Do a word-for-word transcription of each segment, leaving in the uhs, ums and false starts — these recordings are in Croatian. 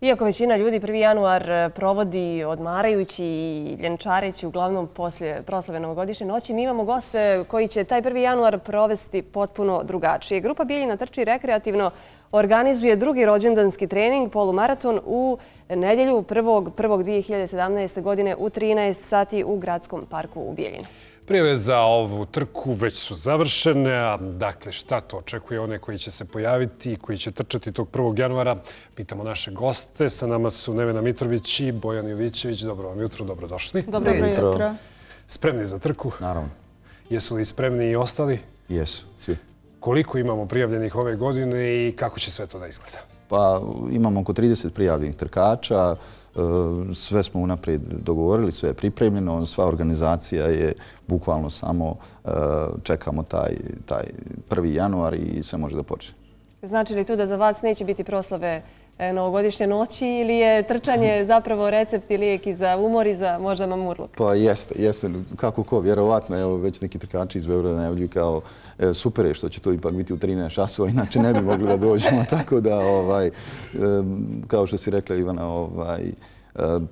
Iako većina ljudi prvi januar provodi odmarajući i ljenčareći, uglavnom poslije proslave novogodišnje noći, mi imamo goste koji će taj prvi januar provesti potpuno drugačije. Grupa Bijeljina trči rekreativno organizuje drugi rođendanski trening, polumaraton, u nedjelju prvog prvog dvije hiljade sedamnaeste. godine u trinaest sati u Gradskom parku u Bijeljinu. Prijave za ovu trku već su završene. Dakle, šta to očekuje one koji će se pojaviti i koji će trčati tog prvog januara? Pitamo naše goste. Sa nama su Nevena Mitrović i Bojan Jovićević. Dobro vam jutro, dobrodošli. Dobro jutro. Spremni za trku? Naravno. Jesu li spremni i ostali? Jesu, svi. Koliko imamo prijavljenih ove godine i kako će sve to da izgleda? Pa imamo oko trideset prijavljenih trkača. Sve smo unaprijed dogovorili, sve je pripremljeno. Sva organizacija je bukvalno samo čekamo taj, taj prvi januar i sve može da počne. Znači li to da za vas neće biti proslave novogodišnje noći ili je trčanje zapravo recept i lijek i za umor i za možda mamurluk? Pa jeste, jeste. Kako ko, vjerovatno. Evo, već neki trkači iz Beograda najavljuju kao e, super je što će to ipak biti u trinaest časova, inače ne bi mogli da dođemo. Tako da, ovaj, e, kao što si rekla Ivana, ovaj, e,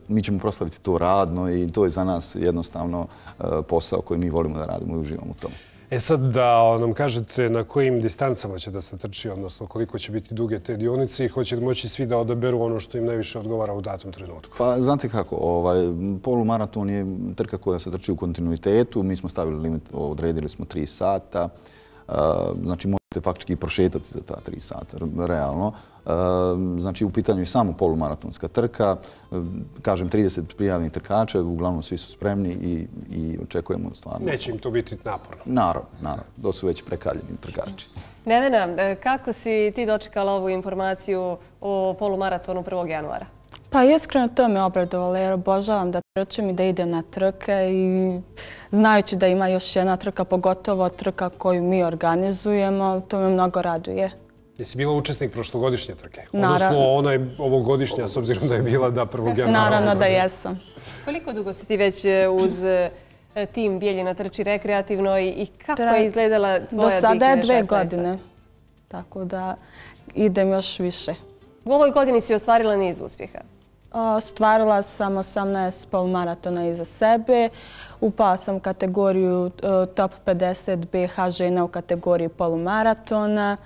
mi ćemo proslaviti to radno i to je za nas jednostavno e, posao koji mi volimo da radimo i uživamo u tome. E sad da nam kažete na kojim distancama će da se trči, odnosno koliko će biti duge te dionice i hoće moći svi da odaberu ono što im najviše odgovara u datom trenutku. Pa znate kako, ovaj, polumaraton je trka koja se trči u kontinuitetu. Mi smo stavili limit, odredili smo tri sata. Uh, znači možete faktički prošetati za ta tri sata, realno. Uh, znači u pitanju je samo polumaratonska trka. Uh, kažem, trideset prijavljenih trkača, uglavnom svi su spremni i, i očekujemo stvarno. Neće im to biti naporno. Naravno, naravno. To su već prekaljeni trkači. Nevena, kako si ti dočekala ovu informaciju o polumaratonu prvog januara? Pa iskreno to me obradovalo jer obožavam da trčim i da idem na trke i znajući da ima još jedna trka, pogotovo trka koju mi organizujemo, to me mnogo raduje. Jesi bila učesnik prošlogodišnje trke? Naravno. Odnosno ona je ovogodišnja, s obzirom da je bila da prvog januara. Naravno da jesam. Koliko dugo si ti već uz tim Bijeljina trči rekreativno i kako je izgledala tvoja Do sada je dve dvije hiljade šesnaeste. godine, tako da idem još više. U ovoj godini si ostvarila niz uspjeha. Ostvarila sam osamnaest polumaratona iza sebe. Upala sam u kategoriju top pedeset B H žena u kategoriji polumaratona.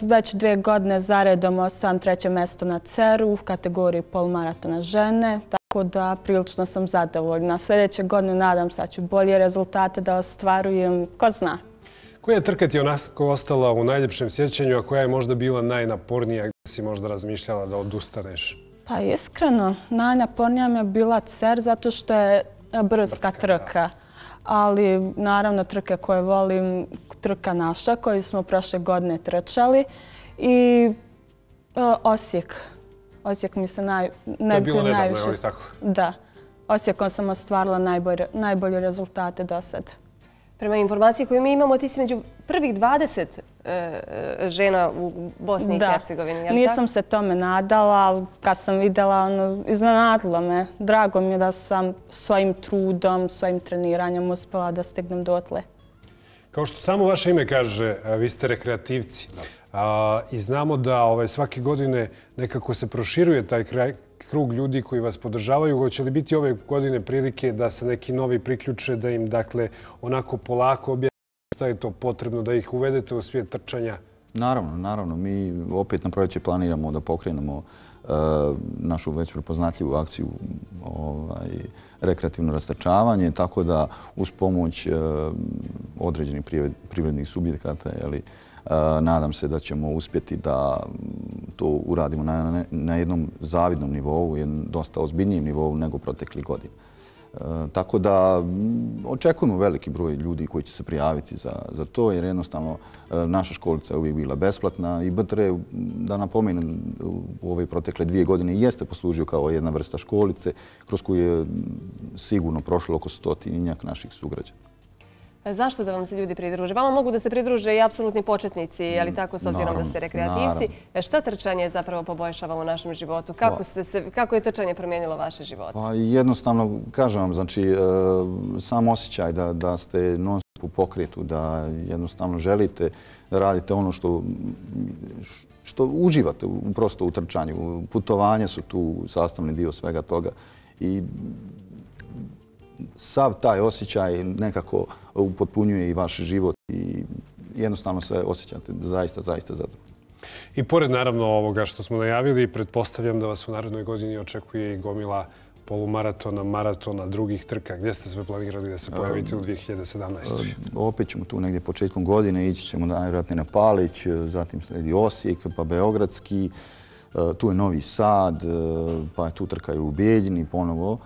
Već dve godine zaredom osvajam treće mjesto na C E R U u kategoriji polumaratona žene. Tako da prilično sam zadovoljna. Sljedeće godine nadam se da ću bolje rezultate da ostvarujem. Ko zna? Koja je trka ti onako ostala u najljepšem sjećanju, a koja je možda bila najnapornija, gdje si možda razmišljala da odustaneš? Pa iskreno, najnapornija mi je bila C E R zato što je brzka trka. Ali naravno trke koje volim, trka naša koju smo prošle godine trčali i Osijek. Osijek mi se naj, to je bilo nedavno, je li tako? Da. Osijekom sam ostvarila najbolje, najbolje rezultate do sada. Prema informaciji koju mi imamo, ti si među prvih dvadeset e, žena u Bosni da. i Hercegovini. Je li Nisam tako? se tome nadala, ali kad sam vidjela, ono, iznenadilo me. Drago mi je da sam svojim trudom, svojim treniranjem uspjela da stignem dotle. Kao što samo vaše ime kaže, vi ste rekreativci. A, I znamo da ovaj, svake godine nekako se proširuje taj kraj, krug ljudi koji vas podržavaju. Hoće li biti ove godine prilike da se neki novi priključe, da im dakle onako polako objasnite šta je to potrebno, da ih uvedete u svijet trčanja? Naravno, naravno. Mi opet na proljeće planiramo da pokrenemo uh, našu već prepoznatljivu akciju ovaj, rekreativno rastrčavanje, tako da uz pomoć uh, određenih privrednih subjekata, jeli, Uh, nadam se da ćemo uspjeti da to uradimo na, na, na jednom zavidnom nivou, jednom dosta ozbiljnijem nivou nego proteklih godina. Uh, tako da m, očekujemo veliki broj ljudi koji će se prijaviti za, za to, jer jednostavno uh, naša školica je uvijek bila besplatna i B T R, da napomenem, u ove protekle dvije godine jeste poslužio kao jedna vrsta školice kroz koju je sigurno prošlo oko stotinjak naših sugrađana. Zašto da vam se ljudi pridruže? Vama mogu da se pridruže i apsolutni početnici, ali tako s obzirom da ste rekreativci. Naravno. Šta trčanje zapravo poboljšava u našem životu? Kako, ste se, kako je trčanje promijenilo vaše živote? Pa jednostavno, kažem vam, znači, sam osjećaj da, da ste non u pokretu, da jednostavno želite da radite ono što, što uživate u, prosto u trčanju. Putovanja su tu sastavni dio svega toga i sav taj osjećaj nekako upotpunjuje i vaš život i jednostavno se osjećate zaista, zaista zadovoljno. I pored naravno ovoga što smo najavili, pretpostavljam da vas u narednoj godini očekuje i gomila polumaratona, maratona, drugih trka. Gdje ste sve planirali da se pojavite u dvije hiljade sedamnaestoj. Opet ćemo tu negdje početkom godine, ići ćemo najvjerojatnije na Palić, zatim sledi Osijek, pa Beogradski, tu je Novi Sad, pa tu trkaju u Bijeljini ponovo.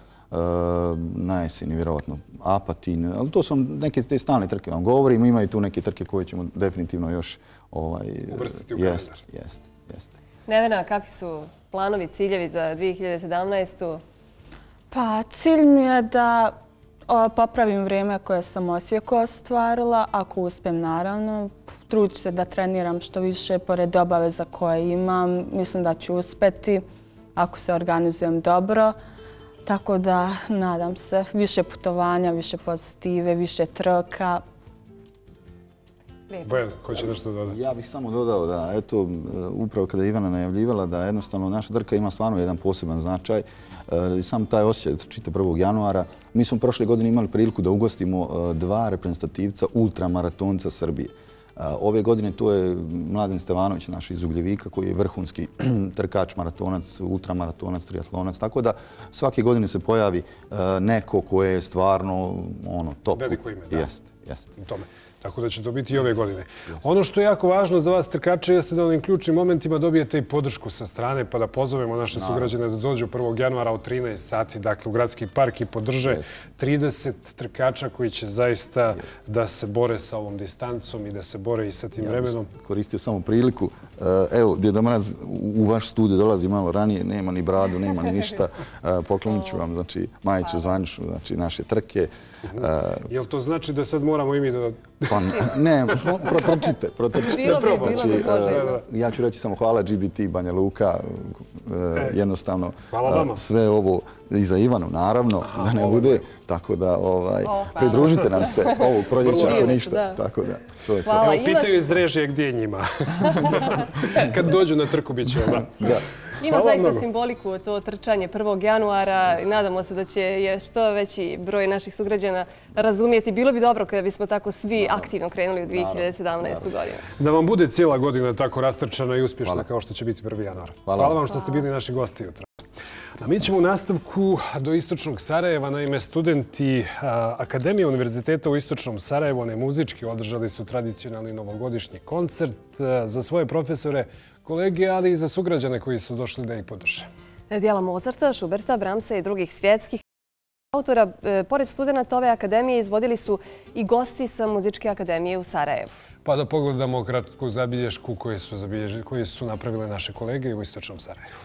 Na jeseni vjerovatno Apatin, ali to su neke te stalne trke vam govorim, imaju tu neke trke koje ćemo definitivno još uvrstiti u kalendar. Jeste, jeste. Nevena, kakvi su planovi, ciljevi za dvije hiljade sedamnaestu. Pa cilj mi je da popravim vrijeme koje sam u Osijeku ostvarila, ako uspijem naravno. Trudit ću se da treniram što više pored obaveza koje imam. Mislim da ću uspjeti ako se organizujem dobro. Tako da, nadam se, više putovanja, više pozitive, više trka. Bojan, ko će nešto dodati? Ja bih samo dodao da, eto, upravo kada je Ivana najavljivala da jednostavno naša trka ima stvarno jedan poseban značaj. Sam taj osjećaj da trčite prvog januara. Mi smo prošle godine imali priliku da ugostimo dva reprezentativca ultramaratonca Srbije. Ove godine to je Mladen Stevanović, naš iz Ugljevika, koji je vrhunski trkač, maratonac, ultramaratonac, triatlonac. Tako da svake godine se pojavi neko koje je stvarno ono, top. Veliko ime, da. Jeste, jeste. Tako da će to biti i ove godine. Ono što je jako važno za vas trkače jeste da u onim ključnim momentima dobijete i podršku sa strane, pa da pozovemo naše sugrađane da dođu prvog januara u trinaest sati, dakle u Gradski park i podrže trideset trkača koji će zaista da se bore sa ovom distancom i da se bore i sa tim vremenom. Ja bih koristio samo priliku. Evo, Djeda Mraz u vaš studio dolazi malo ranije, nema ni bradu, nema ni ništa. Poklonit ću vam, znači, majicu zvaničnu, znači, naše trke. Jel to znači da sad moramo i mi da... Pa ne, protrčite, protrčite. Bilo bi, bilo bi poželjno. Ja ću reći samo hvala G B T Banja Luka, jednostavno sve ovo i za Ivanu, naravno, da ne bude. Tako da pridružite nam se ovog proljeća ako ništa. Tako da, to je to. Evo, pitaju iz režije gdje je njima. Kad dođu na trku bit će onda. Ima zaista simboliku to trčanje prvog januara i nadamo se da će što veći broj naših sugrađana razumijeti. Bilo bi dobro kada bismo tako svi aktivno krenuli u dvije hiljade sedamnaestu godinu. Da vam bude cijela godina tako rastrčana i uspješna kao što će biti prvi januar. Hvala vam što ste bili naši gosti jutra. A mi ćemo u nastavku do Istočnog Sarajeva. Naime, studenti Akademije Univerziteta u Istočnom Sarajevu, ne muzički, održali su tradicionalni novogodišnji koncert za svoje profesore, kolege, ali i za sugrađane koji su došli da ih podrže. Djela Mozarta, Schuberta, Brahmsa i drugih svjetskih autora, pored studenta ove akademije, izvodili su i gosti sa Muzičke akademije u Sarajevu. Pa da pogledamo kratku zabilješku koje su napravile naše kolege u Istočnom Sarajevu.